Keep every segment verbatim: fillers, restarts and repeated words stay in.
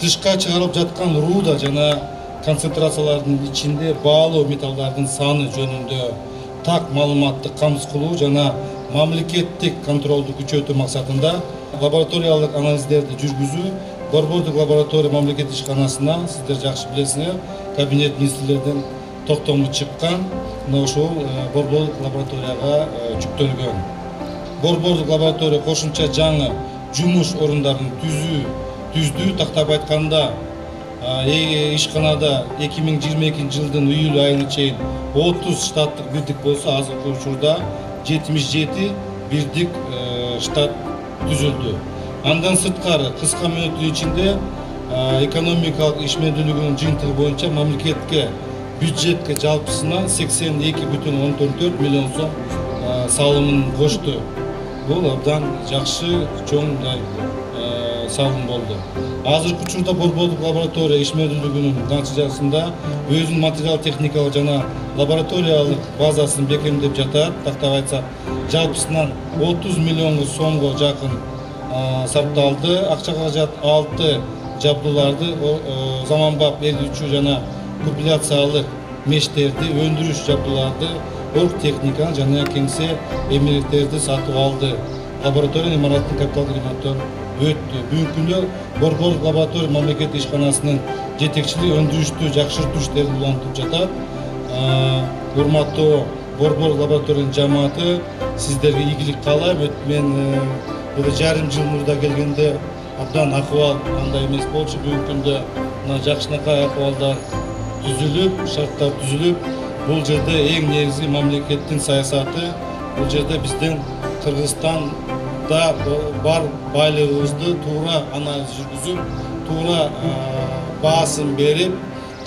тышка чыгарылып жаткан руда жана концентрациялардын ичинде баалуу металлдардын саны жөнүндө так маалыматты камсыз кылуу жана мамлекеттик контролду күчөтүү максатында лабораториялык анализдерди жүргүзүү Борбордук лаборатория мамлекеттик ишканасына, сиздер жакшы билесиңер, кабинет министрлердин токтому чыккан, мына ошол борбордук лабораторияга жүктөлгөн. Борбордук лаборатория кошумча жаңы жумуш орундарын түзүү түздү. Тактап айтканда, ишканада эки миң жыйырма экинчи жылдын июль айына чейин отуз штаттык бирдик болсо, азыркы учурда жетимиш жети бирдик штат түзүлдү. Андан сырткары кыска мөөнөттүн ичинде экономикалык ишмердүүлүгүнүн жыйынтыгы боюнча мамлекетке бюджетке жалпысына сексен эки бүтүн ондон төрт миллион сом салымын кошту. Бул абдан жакшы чоң салым болду. Азыркы учурда борбордук лаборатория ишмердүүлүгүнүн натыйжасында өзүнүн материал техникалык жана лабораториялык базасын бекемдеп жатат. Тактап айтсак, жалпысынан отуз миллион сомго жакын сарпталды. Акча каражат алты жабдууларды, заманбап эритүүчү жана купуляциялык мештерди, өндүрүш жабдууларды, орг техниканы жана кеңсе эмгектерди сатып алды. Лаборатория имараттын капиталдык ремонттон өттү. Бүгүнкү күндө борбордук лаборатория мамлекеттик ишканасынын жетекчилиги өндүрүштү жакшыртуу иштерин улантып жатат. Урматтуу борбордук лабораториянын жамааты, сиздерге ийгилик каалайм. Мен жарым жыл мурда келгенде абдан акыбал андай эмес болчу. Бүгүнкү күндө мына жакшынакай акыбалдар түзүлүп, шарттар түзүлүп, бул жерде эң негизги мамлекеттин саясаты, бул жерде биздин Кыргызстанда бар байлыгыбызды туура анализ жүргүзүп, туура баасын берип,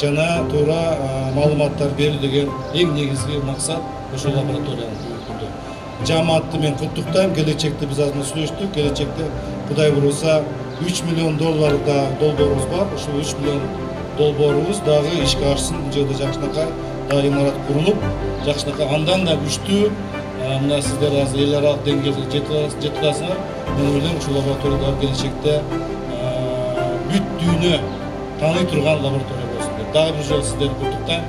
жана туура маалыматтар берүү деген эң негизги максат ошол лабораториянын бүгүнкү күндө. Жамаатты мен куттуктайм. Келечекте биз азыр сүйлөштүк. Келечекте Кудай буйруса үч миллион доллар да долбоорубуз бар. Ушул үч миллион долбоорубуз дагы ишке ашсын. Бул жерде жакшынакай дагы имарат курулуп, жакшынакай андан да күчтүү, мына сиздер азыр эл аралык деңгээлде жетип атасыңар. Мен ойлойм, ушул лаборатория келечекте бүт дүйнө тааный турган лаборатория болсун деп. Дагы бир жолу сиздерди куттуктайм.